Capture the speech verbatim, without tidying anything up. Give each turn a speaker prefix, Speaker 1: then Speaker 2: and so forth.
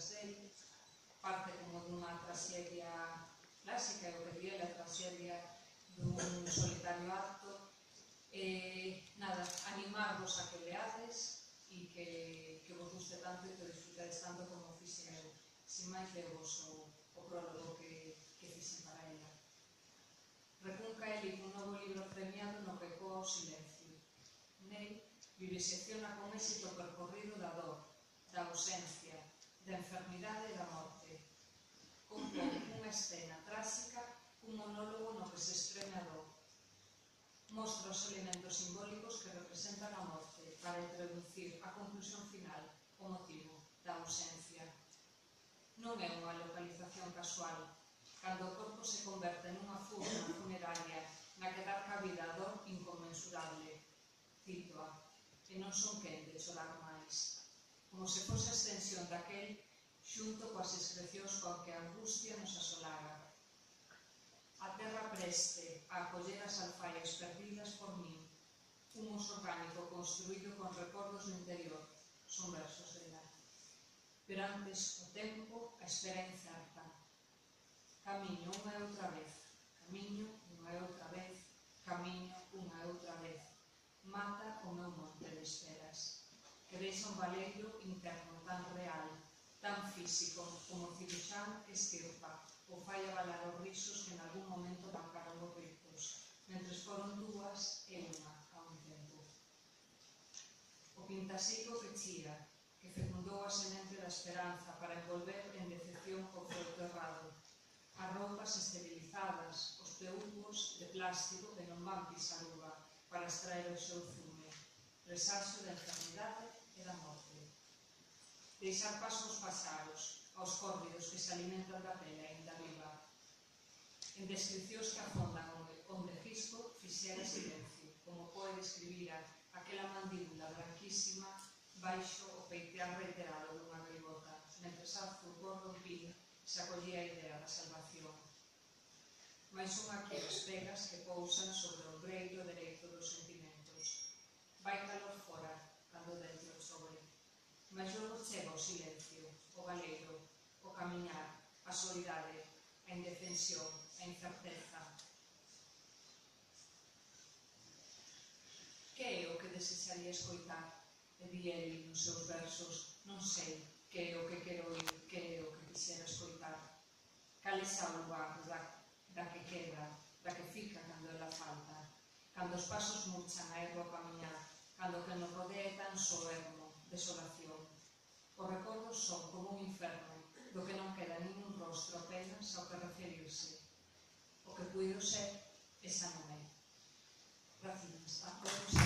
Speaker 1: obras dele, parte como dunha traxedia clásica, o que di a traxedia dun solitario acto. Eh, nada, animarvos a que leades e que, que vos guste tanto e que disfrutades tanto como fixen eu. Sin máis, levos o, o prólogo que, que fixen para ela. Recunca ele un novo libro premiado no que ecoa o silencio. Nel, vivisecciona con éxito o percorrido da dor, da ausencia, da enfermidade e da morte. Compón unha escena tráxica, un monólogo no que se estreme a dor. Mostra os elementos simbólicos que representan a morte para introducir a conclusión final, o motivo da ausencia. Non é unha localización casual. Cando o corpo se converte nunha furna funeraria na que dar cabida a dor inconmensurable. Citoa, e non son quen de chorar máis. Como se fose a extensión daquel xunto coas excrecións coa que a angustia nos asolara. A terra preste a acoller as alfaias perdidas por min. Un oso orgánico construído con recordos do interior. Son versos dela. Pero antes o tempo, a espera incerta. Camiño unha e outra vez. Camiño unha e outra vez. Camiño unha e outra vez. Mata o meu monte de esperas, que deixa un valeiro interno tan real, tan físico como o ciruxán que estirpa ou fai avalar os risos que en algún momento bancaron os ricos, mentres foron dúas e unha a un tempo. O pintasico que chía, que fecundou a semente da esperanza para envolver en decepción o froito errado. As roupas esterilizadas, os peúgos de plástico que non van pisar uva para extraer o seu zume, presaxo da enfermidade e da morte. Deixar paso aos paxaros, aos córvidos que se alimentan da pele aínda viva. En descripcións que afondan onde Gisco fixera silencio, como Poe describira aquela mandíbula branquísima baixo o peitear reiterado dunha gaivota, mentres Arthur Gordon Pym se acollía a idea da salvación. Mais son aquí as pegas que pousan sobre o ombreiro dereito dos sentimentos. Vai calor fora, cando dentro sobre. Mas logo chega o silencio, o galeiro, o camiñar, a soidade, a indefensión, a incerteza. Que é o que desexaría escoitar? E di ele nos seus versos, non sei que é o que quero oír, que é o que quixera escoitar. Cal esa lugar da, da que queda, da que fica cando ela falta, cando os pasos murchan a erro a camiñar, cando o que nos rodea é tan só ermo, desolación. Os recordos son como un inferno, do que non queda ningún rostro apenas ao que referirse. O que puido ser, esa non é. Gracias.